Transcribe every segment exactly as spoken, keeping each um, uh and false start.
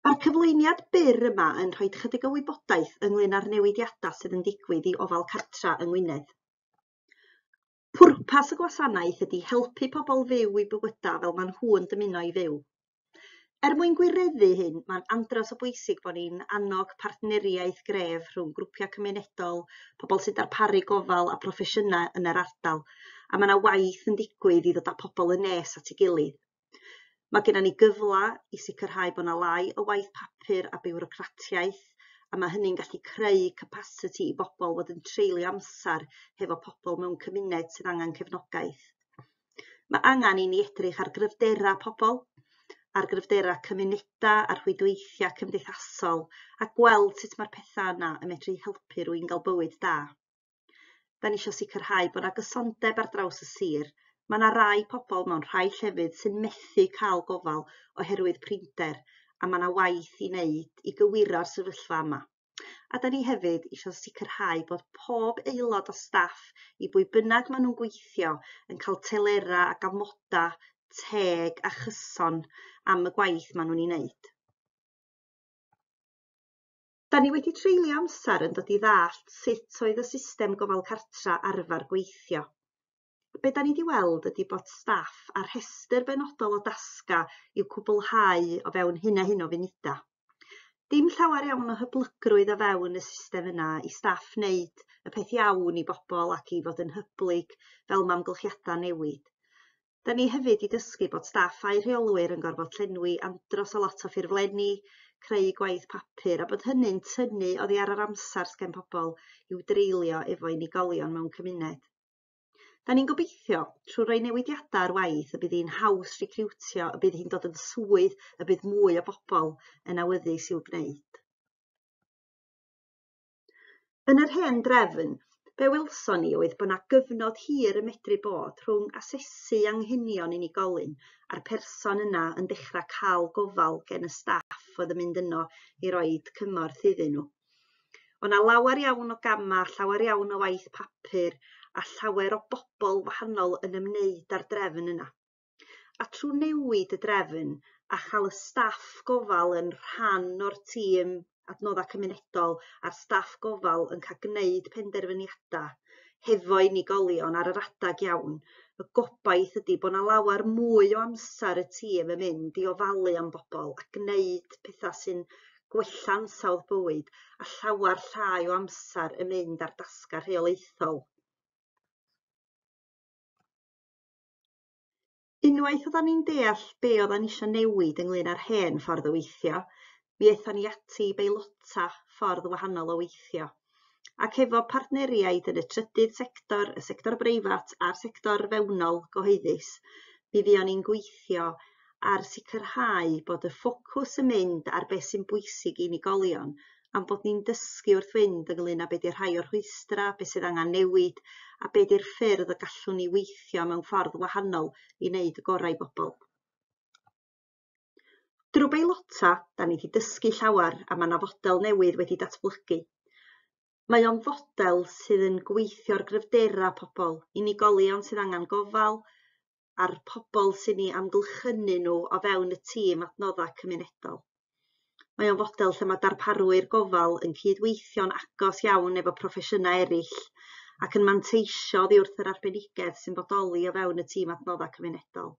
Mae'r cyflwyniad byr yma yn rhoi chydig o wybodaeth ynglyn â'r newidiadau sydd yn digwydd i ofal cartra yng Ngwynedd. Pwrpas y gwasanaeth ydy helpu pobl fyw eu bywydau fel maen nhw'n dymuno i fyw. Er mwyn gwireddu hyn, mae'n andros o bwysig bod ni'n annog partneriaeth gref rhwng grwpiau cymunedol, pobl sy'n darparu gofal a proffesiynau yn yr ardal, a mae yna waith yn digwydd i ddod â pobl yn nes at ei gilydd. Mae gennym ni gyfle i sicrhau bod yna lai o waith papur a biwrocratiaeth, a mae hynny'n gallu creu capasiti i bobl fod yn treulio amser hefo pobl mewn cymuned sydd angen cefnogaeth. Mae angen i ni edrych ar gryfderau pobl, ar gryfderau cymunedau a'r rhwydweithiau cymdeithasol, a gweld sut mae'r pethau yna yn medru helpu rhywun gael bywyd da. Da ni eisiau sicrhau bod yna gysondeb ar draws y sir. Mae yna rai pobl mewn rhai llefydd sy'n methu cael gofal oherwydd prinder, a mae yna waith i wneud i gywiro'r sefyllfa yma. A da ni hefyd eisiau sicrhau bod pob aelod o staff, i bwy bynnag maen nhw'n gweithio, yn cael telerau ac amodau teg a chyson am y gwaith maen nhw'n ei wneud. Da ni wedi treulio amser yn dod i ddallt sut oedd y system gofal cartra arfer gweithio. Be da ni wedi weld ydy bod staff a rhestr benodol o dasga i'w cwblhau o fewn hyn a hyn o funudau. Dim llawer iawn o hyblygrwydd o fewn y system yna i staff wneud y peth iawn i bobl ac i fod yn hyblyg fel mae amgylchiadau newid. Da ni hefyd wedi dysgu bod staff a'u rheolwyr yn gorfod llenwi andros o lot o ffurflenni, creu gwaith papur, a bod hynny'n tynnu oddi ar yr amser sgen pobl i'w dreulio efo unigolion mewn cymuned. Da ni'n gobeithio, trwy roi newidiadau ar waith, y bydd hi'n haws recriwtio, y bydd hi'n dod yn swydd, y bydd mwy o bobl yn awyddus i'w gwneud. Yn yr hen drefn, be welson ni oedd bod 'na gyfnod hir yn medru bod rhwng asesu anghenion unigolyn a'r person yna yn dechrau cael gofal gen y staff oedd yn mynd yno i roid cymorth iddyn nhw. O' 'na lawer iawn o gama, llawer iawn o waith papur a llawer o bobl wahanol yn ymwneud â'r drefn yna. A trwy newid y drefn a chael y staff gofal yn rhan o'r tîm adnoddau cymunedol a'r staff gofal yn cael gwneud penderfyniadau hefo unigolion ar yr adag iawn, y gobaith ydy bod 'na lawer mwy o amser y tîm yn mynd i ofalu am bobl a gwneud pethau sy'n gwella ansawdd bywyd, a llawer llai o amser yn mynd ar dasgau rheolaethol. Unwaith oeddan ni'n deall be oeddan ni eisiau newid ynglyn â'r hen ffordd o weithio, mi aethon ni ati i beilota ffordd wahanol o weithio. Ac efo partneriaid yn y trydydd sector, y sector breifat a'r sector fewnol gyhoeddus, mi fuon ni'n gweithio ar sicrhau bod y ffocws yn mynd ar beth sy'n bwysig i unigolion, a'n bod ni'n dysgu wrth fynd ynglyn â be 'di rhai o'r rhwystrau, beth sydd angen newid, a be 'di'r ffyrdd y gallwn ni weithio mewn ffordd wahanol i wneud y gorau i bobl. Drwy beilota, da ni wedi dysgu llawer a mae 'na fodel newydd wedi datblygu. Mae o'n fodel sydd yn gweithio ar gryfderau pobl, unigolion sydd angen gofal, a'r pobl sy'n eu amgylchynu nhw o fewn y tîm adnoddau cymunedol. Mae o'n fodel lle mae darparwyr gofal yn cydweithio'n agos iawn efo proffesiynau eraill ac yn manteisio oddi wrth yr arbenigedd sy'n bodoli o fewn y tîm adnoddau cymunedol.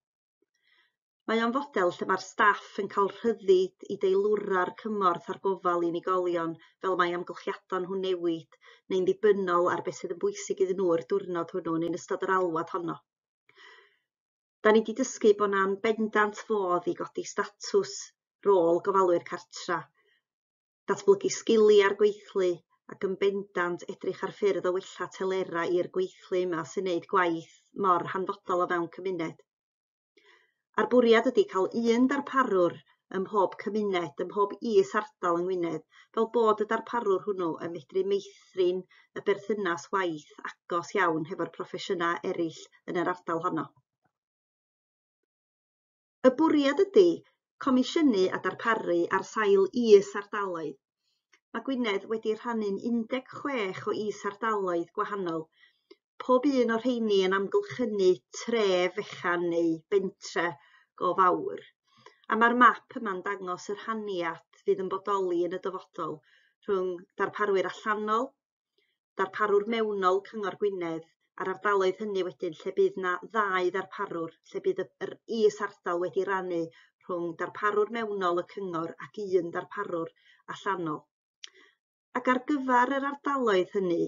Mae o'n fodel lle mae'r staff yn cael rhyddid i deilwra'r cymorth a'r gofal i unigolion fel mae amgylchiadau nhw'n newid neu'n ddibynnol ar beth sydd yn bwysig iddyn nhw yr diwrnod hwnnw neu'n ystod yr alwad honno. Da ni wedi dysgu bod 'na'n bendant fodd i godi statws rôl gofalwyr cartra, datblygu sgiliau'r gweithlu ac yn bendant edrych ar ffyrdd o wella telerau i'r gweithlu yma sy'n neud gwaith mor hanfodol o fewn cymuned. A'r bwriad ydy cael un darparwr ym mhob cymuned, ym mhob is-ardal yng Ngwynedd, fel bod y darparwr hwnnw yn medru meithrin y berthynas waith agos iawn hefo'r proffesiynau eraill yn yr ardal honno. Y bwriad ydy comisiynu a darparu ar sail is-ardaloedd. Mae Gwynedd wedi rhannu'n un deg chwech o is-ardaloedd gwahanol, pob un o'r rheini yn amgylchynu tref fechan neu bentre go fawr. A mae'r map yma'n dangos y rhaniad fydd yn bodoli yn y dyfodol rhwng darparwyr allanol, darparwr mewnol Cyngor Gwynedd, a'r ardaloedd hynny wedyn lle bydd 'na ddau ddarparwr, lle bydd yr is-ardal wedi rannu rhwng darparwr mewnol y cyngor ac un darparwr allanol. Ac ar gyfer yr ardaloedd hynny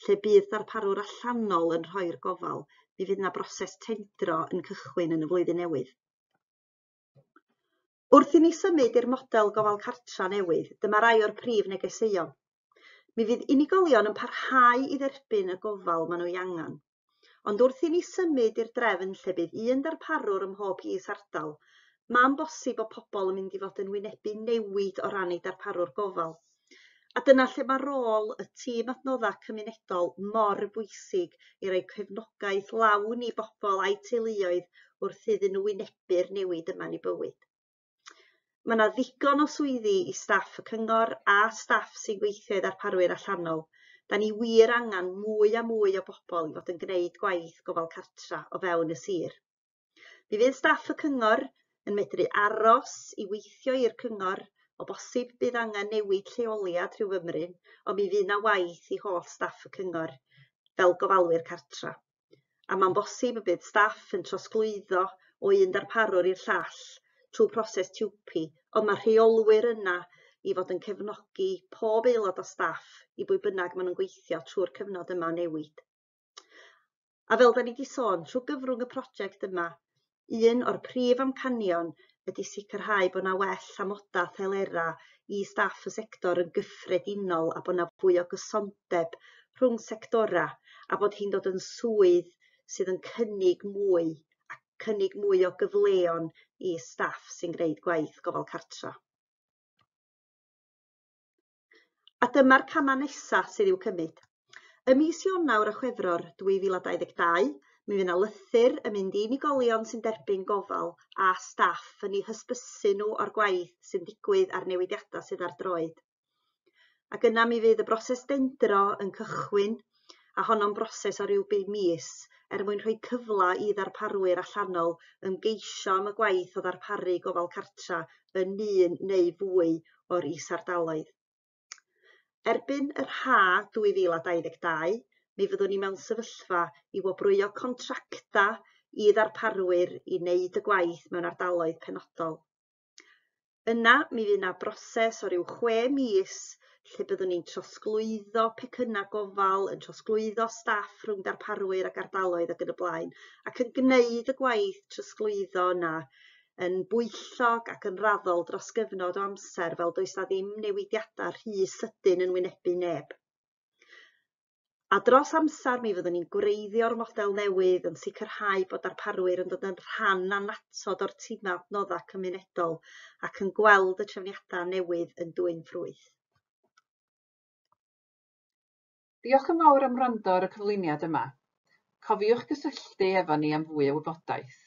lle bydd darparwr allanol yn rhoi'r gofal, mi fydd 'na broses tendro yn cychwyn yn y flwyddyn newydd. Wrth i ni symud i'r model gofal cartra newydd, dyma rai o'r prif negeseuon. Mi fydd unigolion yn parhau i dderbyn y gofal maen nhw ei angen. Ond wrth i ni symud i'r drefn lle bydd un darparwr ym mhob is-ardal, mae'n bosib bod pobl yn mynd i fod yn wynebu newid o ran eu darparwr gofal. A dyna lle mae rôl y tîm adnoddau cymunedol mor bwysig i roi cefnogaeth lawn i bobl a'u teuluoedd wrth iddyn nhw wynebu'r newid yma yn eu bywyd. Mae yna ddigon o swyddi i staff y cyngor a staff sy'n gweithio i ddarparwyr allanol. Da ni wir angen mwy a mwy o bobl i fod yn gwneud gwaith gofal cartra o fewn y sir. Mi fydd staff y cyngor yn medru aros i weithio i'r cyngor, o bosib bydd angen newid lleoliad rhyw fymryn, ond mi fydd 'na waith i holl staff y cyngor fel gofalwyr cartra. A mae'n bosib y bydd staff yn trosglwyddo o un darparwr i'r llall trwy proses T W P I, ond mae rheolwyr yna i fod yn cefnogi pob aelod o staff i bwy bynnag maen nhw'n gweithio trwy'r cyfnod yma o newid. A fel da ni wedi sôn, trwy gyfrwng y prosiect yma, un o'r prif amcanion ydy sicrhau bod 'na well amoda telera i staff y sector yn gyffredinol a bod 'na fwy o gysondeb rhwng sectora a bod hi'n dod yn swydd sydd yn cynnig mwy a cynnig mwy o gyfleon i staff sy'n gwneud gwaith gofal cartra. A dyma'r camau nesaf sydd i'w cymryd. Ym mis Ionawr a Chwefror dwy fil a dau ddeg dau, mi fydd 'na lythyr yn mynd i unigolion sy'n derbyn gofal a staff yn eu hysbysu nhw o'r gwaith sy'n digwydd a'r newidiadau sydd ar droed. Ac yna mi fydd y broses dendro yn cychwyn, a honno'n broses o ryw bum mis, er mwyn rhoi cyfle i ddarparwyr allanol ymgeisio am y gwaith o ddarparu gofal cartra yn un neu fwy o'r is-ardaloedd. Erbyn yr ha dwy fil a dau ddeg dau, mi fyddwn ni mewn sefyllfa i wobrwyo contracta i ddarparwyr i wneud y gwaith mewn ardaloedd penodol. Yna, mi fydd 'na broses o ryw chwe mis lle byddwn ni'n trosglwyddo pecynnau gofal, yn trosglwyddo staff rhwng darparwyr ac ardaloedd ac yn y blaen, ac yn gwneud y gwaith trosglwyddo yna yn bwyllog ac yn raddol dros gyfnod o amser, fel does 'na ddim newidiadau rhy sydyn yn wynebu neb. A dros amser mi fyddwn ni'n gwreiddio'r model newydd, yn sicrhau bod darparwyr yn dod yn rhan annatod o'r timau adnoddau cymunedol ac yn gweld y trefniadau newydd yn dwyn ffrwyth. Diolch yn fawr am wrando ar y cyflwyniad yma. Cofiwch gysylltu efo ni am fwy o wybodaeth.